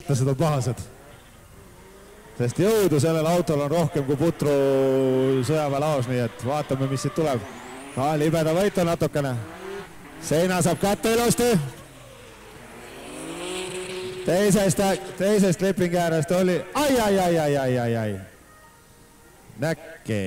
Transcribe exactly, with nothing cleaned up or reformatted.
Tased on pahased. Sest jõudu sellel autol on rohkem kui putru sõjaväelaos, nii et vaatame, mis siit tuleb. Ka libeda võitu natukene. Seina saab kätte ilusti. Teisest, teisest lipingi äärest oli ai, ai, ai, ai, ai, ai, ai. Näkke.